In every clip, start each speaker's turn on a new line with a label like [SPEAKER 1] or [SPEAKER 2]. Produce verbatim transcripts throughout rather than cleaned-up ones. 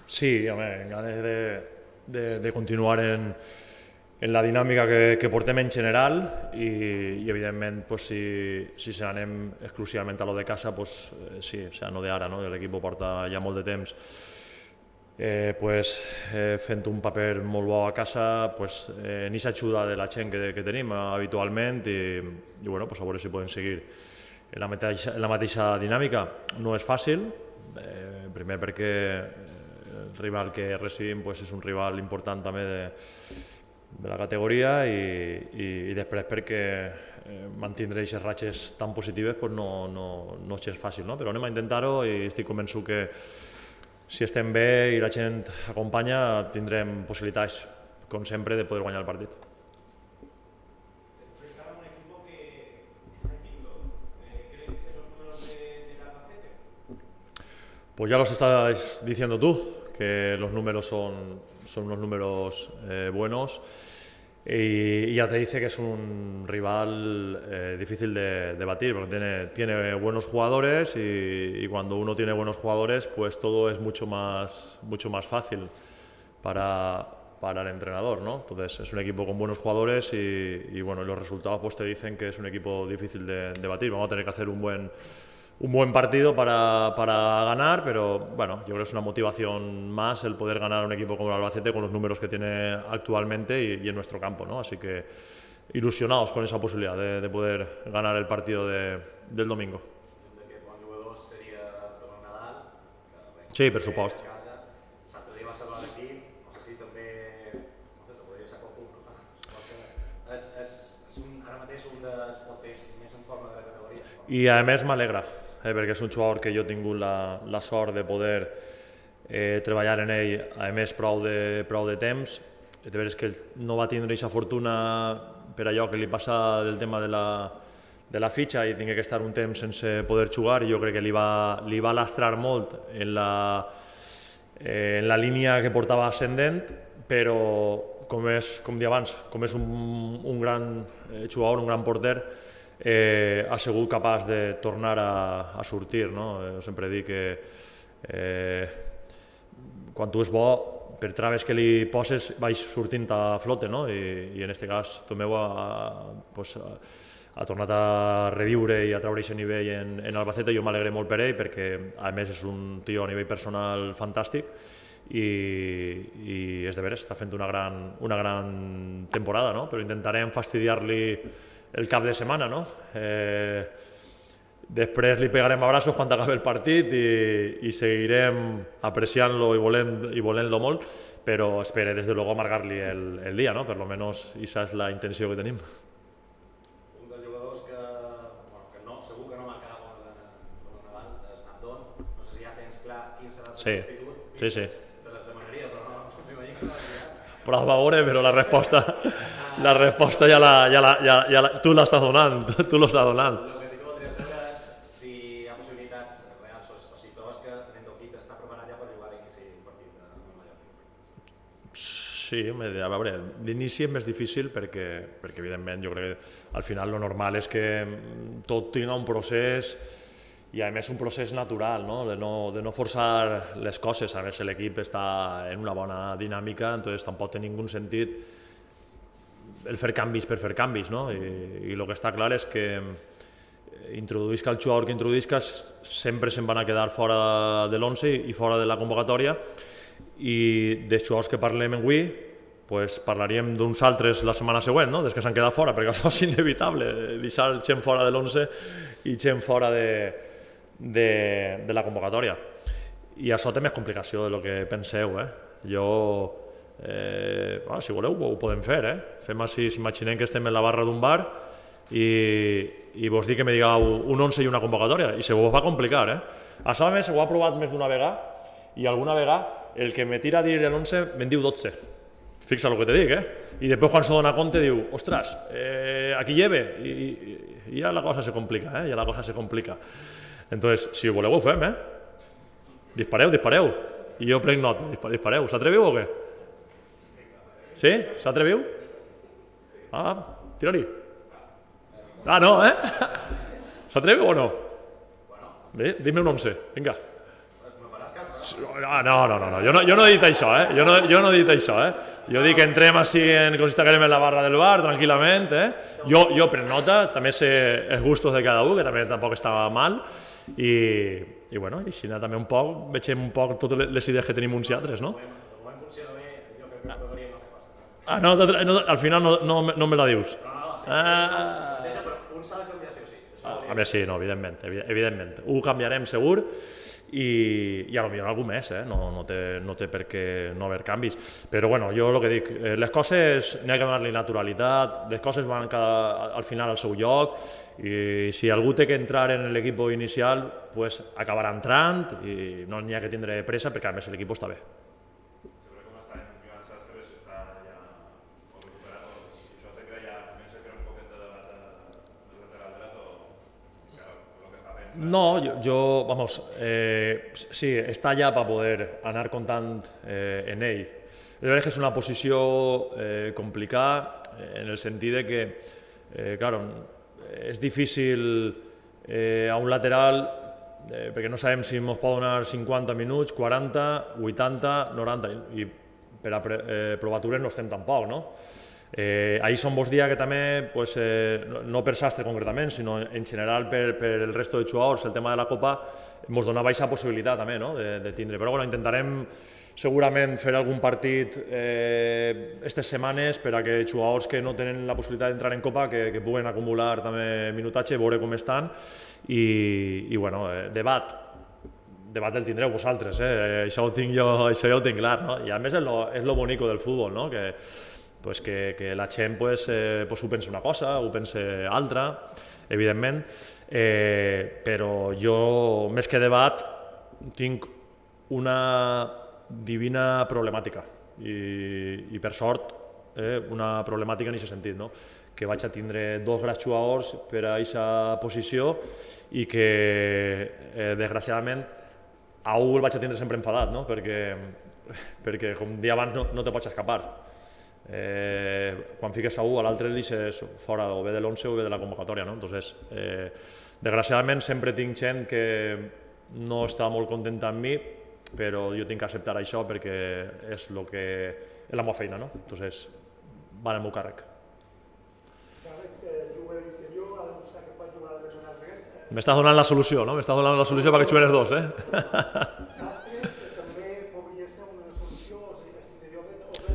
[SPEAKER 1] Sí, home, ganes de, de, de continuar en, en la dinàmica que, que portem en general i, i evidentment, pues, si, si se n'anem exclusivament a lo de casa, pues, eh, sí, o sea, no de ara, no? L'equip porta ja molt de temps eh, pues, eh, fent un paper molt bo a casa, pues, eh, en aquesta ajuda de la gent que, que tenim eh, habitualment i, i bueno, pues, a veure si podem seguir en la mateixa, en la mateixa dinàmica. No és fàcil, eh, primer perquè el rival que recibim pues, és un rival important també de, de la categoria i, i, i després perquè eh, mantindre aquestes ratxes tan positives pues, no, no, no és fàcil, no? Però anem a intentar-ho i estic convençut que si estem bé i la gent acompanya tindrem possibilitats, com sempre, de poder guanyar el partit. Pues ya los estás diciendo tú, que los números son, son unos números eh, buenos y, y ya te dice que es un rival eh, difícil de, de batir, porque tiene, tiene buenos jugadores y, y cuando uno tiene buenos jugadores pues todo es mucho más, mucho más fácil para, para el entrenador, ¿no? Entonces es un equipo con buenos jugadores y, y bueno, los resultados pues te dicen que es un equipo difícil de, de batir. Vamos a tener que hacer un buen Un buen partido para, para ganar, pero bueno, yo creo que es una motivación más el poder ganar a un equipo como el Albacete con los números que tiene actualmente y, y en nuestro campo, ¿no? Así que ilusionados con esa posibilidad de, de poder ganar el partido de, del domingo. Sí, per supost. I a més m'alegra, eh, perquè és un jugador que jo he tingut la, la sort de poder eh, treballar en ell, a més prou de, prou de temps. De veres que no va tindre aquesta fortuna per allò que li passa del tema de la, de la fitxa i tingué que estar un temps sense poder jugar i jo crec que li va, li va lastrar molt en la, eh, en la línia que portava ascendent, però com, és, com dia abans, com és un, un gran jugador, un gran porter, Eh, ha sigut capaç de tornar a, a sortir, no? Eh, sempre dic que eh, quan tu és bo, per traves que li poses, vaig sortint a flote, no? I, i en aquest cas Tomeu ha, pues, ha tornat a reviure i a treure aquest nivell en, en Albacete. Jo m'alegré molt per ell perquè a més és un tio a nivell personal fantàstic i, i és de veres, està fent una gran, una gran temporada, no? Però intentarem fastidiar-li el cap de setmana, no? Eh, després li pegarem abraços quan acabi el partit i, i seguirem apreciant-lo i volent-lo i volent molt, però espere des de luego amargar-li el, el dia, no? Per lo menos esa és la intenció que tenim.
[SPEAKER 2] Un dels jugadors que, bueno, que no, segur que no marcarà com el Nadal, és Nandón. No sé si ja tens clar quin serà el substitut.
[SPEAKER 1] Sí, sí.
[SPEAKER 2] Te les demanaria, però no, m'imagino que no l'has
[SPEAKER 1] Però a veure, però la resposta... La resposta ja la, ja la, ja, ja la, tu l'estàs donant, tu l'estàs donant.
[SPEAKER 2] El que sí que voldria saber és si hi ha possibilitats reals o si trobes que Nendoquit està preparat ja per jugar d'inici un partit amb el Mallorca.
[SPEAKER 1] Sí, a veure, d'inici és més difícil perquè, perquè evidentment jo crec que al final lo normal és que tot tinga un procés i a més un procés natural, no? De, no, de no forçar les coses. A més l'equip està en una bona dinàmica, entonces tampoc té ningú sentit el fer canvis per fer canvis, no? I, i el que està clar és que introduïsca el jugador que introduïsca sempre se'n van a quedar fora de l'onze i fora de la convocatòria i dels jugadors que parlem avui pues parlaríem d'uns altres la setmana següent, no? Des que s'han quedat fora, perquè això és inevitable, deixar gent fora de l'onze i gent fora de, de, de la convocatòria. I això té més complicació del que penseu, eh? Jo... Eh, bueno, si voleu ho podem fer, eh? Fem així, s'imaginem que estem en la barra d'un bar i, i vos dic que me digueu un onze i una convocatòria i se vos va complicar, eh? Això a més ho ha provat més d'una vegada i alguna vegada el que me tira a dir l'onze me'n diu dotze. Fixa el que te dic, eh? I després quan se dona compte diu, ostres, eh, aquí lleve i, i, i ja la cosa se complica, eh? Ja la cosa se complica. Entonces, si ho voleu ho fem, eh? Dispareu, dispareu. I jo prenc nota, dispareu. S'atreviu o què? Sí? S'atreviu? Ah, tira-li. Ah, no, eh? S'atreviu o no? Bé, dime un onze, vinga. Ah, no, no, no, no. Jo, no, jo no he dit això, eh? Jo no, jo no he dit això, eh? Jo dic que entrem així en, com si estiguem en la barra del bar, tranquil·lament, eh? Jo, jo prenc nota, també sé els gustos de cada un, que també tampoc estava mal, i, i bueno, i si no, també un poc, vegem un poc totes les idees que tenim uns i altres, no? Ah, no, no, al final no, no, no me la dius. Ah,
[SPEAKER 2] un s'ha de canviar sí o sí.
[SPEAKER 1] a veure, sí, no, evidentment, evidentment. Ho canviarem segur, i, i a lo millor algú més, eh? no, no, té, no té per què no haver canvis. Però bueno, jo el que dic, les coses n'hi ha que donar-li naturalitat, les coses van cada, al final al seu lloc, i si algú té que entrar en l'equip inicial, pues acabarà entrant i no n'hi ha que tindre pressa perquè a més l'equip està bé. No, yo, yo vamos, eh, sí, està allà per poder anar comptant eh, en ell. És veritat que és una posició eh, complicada en el sentit de que, eh, claro, és difícil eh, a un lateral eh, perquè no sabem si ens pot donar cinquanta minuts, quaranta, vuitanta, noranta, i per a eh, provatures no estem tampoc, no? Eh, ahir són bons dies que també, pues, eh, no per Sastre concretament, sinó en general per, per el resto de jugadors, el tema de la Copa ens donava aquesta possibilitat també, no? de, de tindre. Però bueno, intentarem segurament fer algun partit aquestes eh, setmanes per a que jugadors que no tenen la possibilitat d'entrar en Copa que, que puguen acumular també minutatge, veure com estan i, i bueno, eh, debat debat el tindreu vosaltres, eh? això, ho tinc jo, això ja ho tinc clar, no? I a més és lo, és lo bonico del futbol, no? que pues que, que la gent pues, eh, pues ho pensa una cosa, ho pensa altra, evidentment, eh, però jo, més que debat, tinc una divina problemàtica i, i per sort, eh, una problemàtica en aquest sentit, no? que vaig a tindre dos grans jugadors per a aquesta posició i que, eh, desgraciadament, a un el vaig a tindre sempre enfadat, no? perquè, perquè, com dia abans, no, no te pots escapar. Eh, quan fiques a un, a l'altre el deixes fora o bé de l'once o bé de la convocatòria. No? Entonces, eh, desgraciadament sempre tinc gent que no està molt contenta amb mi, però jo tinc que acceptar això perquè és, lo que, és la meva feina. No? Entonces, va en el meu càrrec. M'estàs donant la solució, no? M'estàs donant la solució perquè juguen els dos, eh?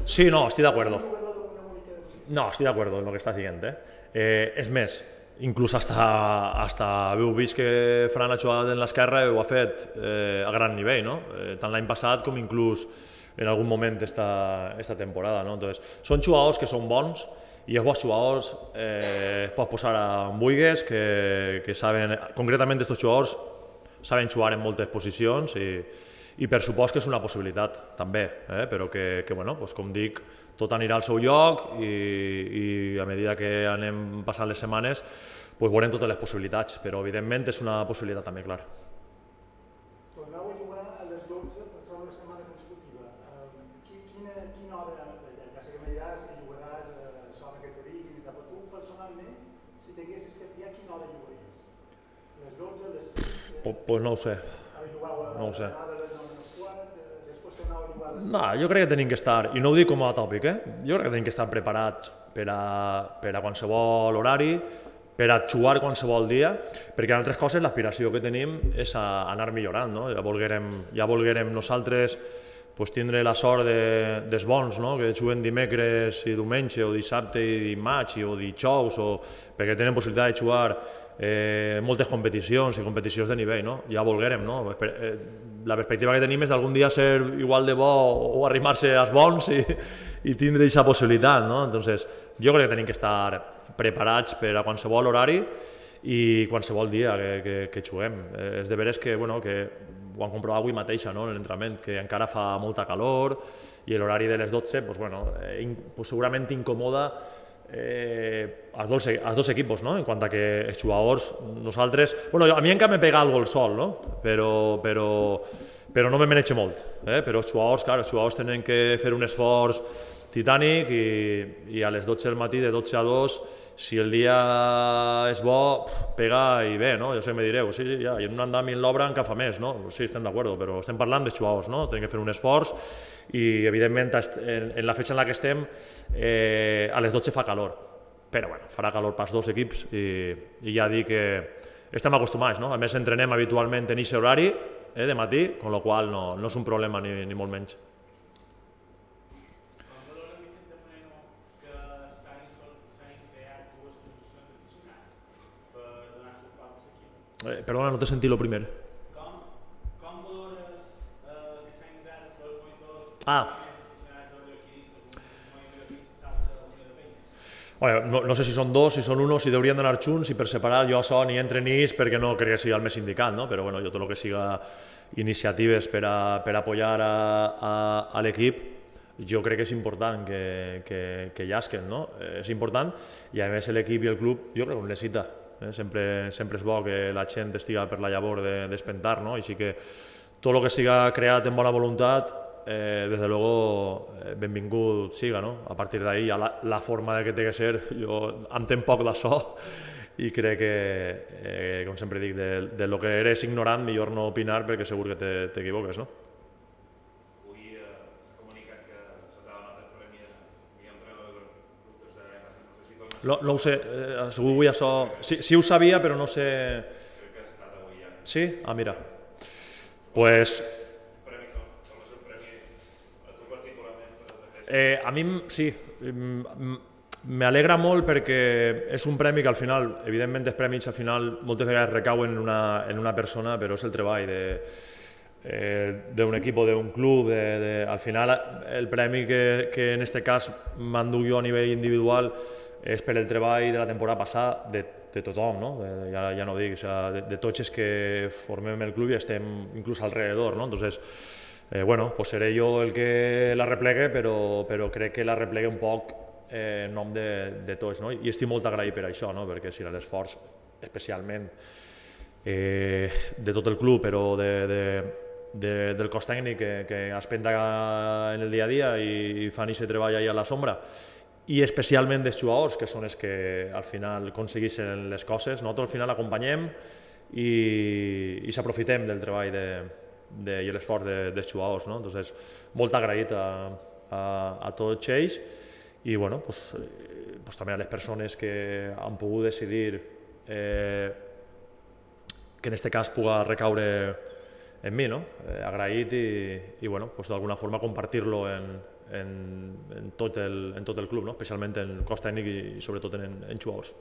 [SPEAKER 1] Sí, no, estoy de acuerdo. No, estoy de acuerdo en lo que estás diciendo. Eh? Eh, és més, inclús hasta, hasta heu vist que Fran ha jugat en l'esquerra i ho ha fet eh, a gran nivell, no? Eh, tant l'any passat com inclús en algun moment esta, esta temporada. No? Entonces, són jugadors que són bons i els bons jugadors eh, es pot posar en buigues que, que saben, concretament aquests jugadors saben jugar en moltes posicions i i per supost que és una possibilitat també, eh? però que, que bueno, doncs, com dic, tot anirà al seu lloc i, i a mesura que anem passant les setmanes doncs, veurem totes les possibilitats, però evidentment és una possibilitat també, clar.
[SPEAKER 3] Tornau a jugar a les dotze per segona setmana consecutiva. Quina, quina hora, ja sé que me diràs que jugaràs a zona que te diguin, però tu personalment, si t'haguessis que triar, quina hora jugaries? Les dotze, les sis?
[SPEAKER 1] Doncs no ho sé, no ho sé. No, jo crec que tenim que estar, i no ho dic com a tòpic, eh? jo crec que tenim que estar preparats per a, per a qualsevol horari, per a jugar qualsevol dia, perquè en altres coses l'aspiració que tenim és a anar millorant. No? Ja, volguérem, ja volguérem nosaltres pues, tindre la sort de, dels bons, no? que juguen dimecres i diumenge, o dissabte i dimarts, o dijous, o, perquè tenen possibilitat de jugar eh, moltes competicions i competicions de nivell. No? Ja volguérem, no? Eh, la perspectiva que tenim és d'algun dia ser igual de bo o arrimar-se als bons i, i tindre aquesta possibilitat. No? Entonces, jo crec que tenim que estar preparats per a qualsevol horari i qualsevol dia que, que, que juguem. Eh, és de veres que, bueno, que ho han comprovat avui mateixa, no? en l'entrenament, que encara fa molta calor i l'horari de les dotze pues, bueno, eh, in, pues, segurament incomoda eh, als, dos, als dos equipos, no? en quant a que els jugadors, nosaltres... Bueno, a mi encara me pega algo el sol, no? però, però, però no me menege molt. Eh? Però els jugadors, clar, els jugadors tenen que fer un esforç titànic i, i a les dotze del matí, de dotze a dos, si el dia és bo, pega i bé, no? Jo sé que me direu, sí, sí, ja, i en un andam i en l'obra encara fa més, no? Sí, estem d'acord, però estem parlant de jugadors, no? Tenim que fer un esforç i, evidentment, en, en la fetge en la que estem, eh, a les dotze fa calor, però bueno, farà calor pels dos equips i, i ja dic que estem acostumats, no? A més, entrenem habitualment en aquest horari, eh, de matí, amb la qual cosa no, no és un problema ni, ni molt menys. Eh, perdona, no t'he sentit el primer.
[SPEAKER 4] Com, com valores eh, que s'han creat els monitors
[SPEAKER 1] Ah.
[SPEAKER 4] aficionats al bioquinista, com un bioquinista que salta de la Unió de Penyes?
[SPEAKER 1] Bueno, no, no sé si són dos, si són uno, si deurien d'anar junts, si per separat jo això ni entre ni és perquè no crec que sigui el més indicat, no? Però bueno, jo tot el que siga iniciatives per a, per a apoyar a, a, a l'equip, jo crec que és important que, que, que llasquen, no? Eh, és important i a més l'equip i el club jo crec que ho necessita. Eh? Sempre, sempre és bo que la gent estiga per la llavor d'espentar, de, no? Així que tot el que siga creat en bona voluntat, eh, des de luego, eh, benvingut siga, no? A partir d'ahí, ja la, la forma de que té que ser, jo entenc poc d'això i crec que, eh, com sempre dic, de, de lo que eres ignorant, millor no opinar perquè segur que t'equivoques, no?
[SPEAKER 2] Avui eh, s'ha comunicat que s'ha donat el premi a entrenador de grups de no sé si com
[SPEAKER 1] No, no ho sé, eh, segur avui això... Sí, sí ho sabia, però no sé...
[SPEAKER 2] crec que ha estat avui ja.
[SPEAKER 1] Sí? Ah, mira. Pues...
[SPEAKER 2] Un premi com, com és el premi a tu particularment per aquest.
[SPEAKER 1] Eh, a mi, sí, m'alegra molt perquè és un premi que al final, evidentment els premis al final moltes vegades recauen en una, en una persona, però és el treball de eh, d'un equip o d'un club, de, de, al final el premi que, que en este cas m'enduc jo a nivell individual és per el treball de la temporada passada de, de tothom, no? De, ja, ja no dic, o sea, de, de tots els que formem el club i estem inclús alrededor, no? Entonces, eh, bueno, pues seré jo el que la replegue, però, però crec que la replegue un poc eh, en nom de, de tots, no? I estic molt agraït per això, no? Perquè si l'esforç, especialment eh, de tot el club, però de, de, de, del cos tècnic que, que es penta en el dia a dia i fan aquest treball allà a la sombra, i especialment dels jugadors, que són els que al final aconsegueixen les coses. Nosaltres al final acompanyem i, i s'aprofitem del treball de, de, i l'esforç de, dels jugadors, no? Entonces, molt agraït a, a, a tots ells i bueno, pues, pues, també a les persones que han pogut decidir eh, que en aquest cas puga recaure en mi, no? Eh, agraït i, i bueno, pues, d'alguna forma compartir-lo en, en, en, tot el, en tot el club, no? Especialment en el cos tècnic i sobretot en, en jugadors.